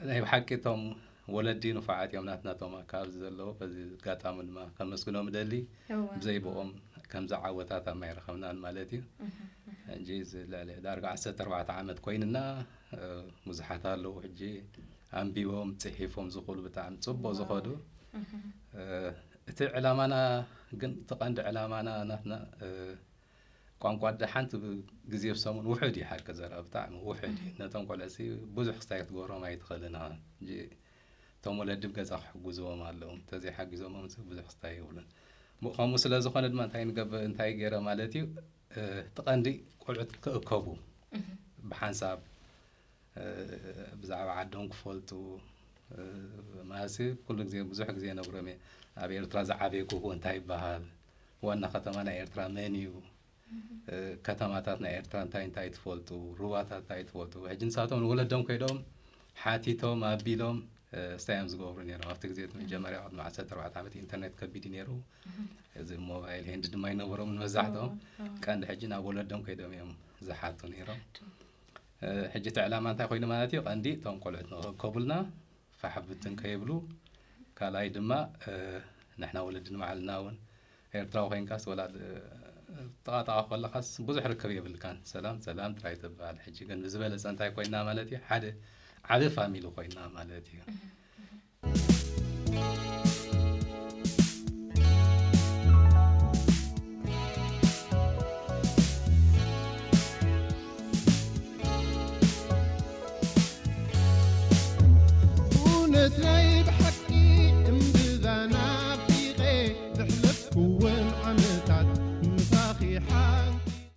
ናይ ብሓቂ እቶም ወለዲ ንፉዓት እዮም ናትና እቶም ኣካባቢ ዘለዉ። በዚ ኣጋጣሚ ድማ ከመስግኖም እደሊ። ብዘይ ብኦም ከምዚ ዓወታት ኣማይረኸብናን ማለት እዩ። ሕጂ እዚ ልዕሊ ዳርጋ ዓሰርተ ኣርባዕተ ዓመት ኮይንና። ብዙሓት ኣለዉ ሕጂ ኣንቢቦም ጽሒፎም ዝኽእሉ ብጣዕሚ ጽቡቕ ዝኸዱ። እቲ ዕላማና ግን እቲ ቀንዲ ዕላማና ናትና ቋንቋ ደ ሓንቲ ግዜ ብሰሙን ውሑድ እዩ ሓቂ ዘረባ ብጣዕሚ ውሑድ እዩ። ነቶም ቆልዕሲ ብዙሕ ክስታይ ክትገብሮም ኣይትኽእልን ኢኻ። እቶም ወለዲ ብገዛ ክሕግዝዎም ኣለዎም። እንተዘይሓጊዞሞም ብዙሕ ክስታይ ይብሉን። ከምኡ ስለ ዝኾነ ድማ እንታይ ንገብር እንታይ ገይረ ማለት እዩ። እቲ ቀንዲ ቆልዑት ክእከቡ ብሓንሳብ ብዛዕባ ዓዶም ክፈልጡ ማለት ኩሉ ግዜ ብዙሕ ግዜ ነግሮም እየ። ኣብ ኤርትራ ዝዓበየ ክህቦ እንታይ ይበሃል? ዋና ከተማ ናይ ኤርትራ መን እዩ? ከተማታት ናይ ኤርትራ እንታይ እንታይ ትፈልጡ? ሩባታት እንታይ ትፈልጡ? ሕጂ ንሳቶም ንወለዶም ከይዶም ሓቲቶም ኣቢሎም ስታይ እዮም ዝገብሩ ነይሮም ኣብቲ ግዜ እቲ መጀመርያ ቅድሚ ዓሰርተ ኣርባዕተ ዓመት ኢንተርኔት ከቢድ እዩ ነይሩ። እዚ ሞባይል ሄንድ ድማ ይነበሮም ንመዛሕቶም። ቀንዲ ሕጂ ናብ ወለዶም ከይዶም እዮም ዝሓቱ ነይሮም። ሕጂ እቲ ዕላማ እንታይ ኮይኑ ማለት እዩ? ቀንዲ እቶም ቆልዑት ንክእከቡልና ፋሕብትን ከይብሉ፣ ካልኣይ ድማ ንሕና ወለዲ ንባዕልና እውን ኤርትራዊ ኮይንካስ ወላ ጠቓጠቓ ከለኻስ ብዙሕ ርክብ የብልካን። ሰላም ሰላም ጥራይ ትበሃል። ሕጂ ግን ብዝበለፀ እንታይ ኮይና ማለት እዩ? ሓደ ዓቢ ፋሚሊ ኮይና ማለት እዩ።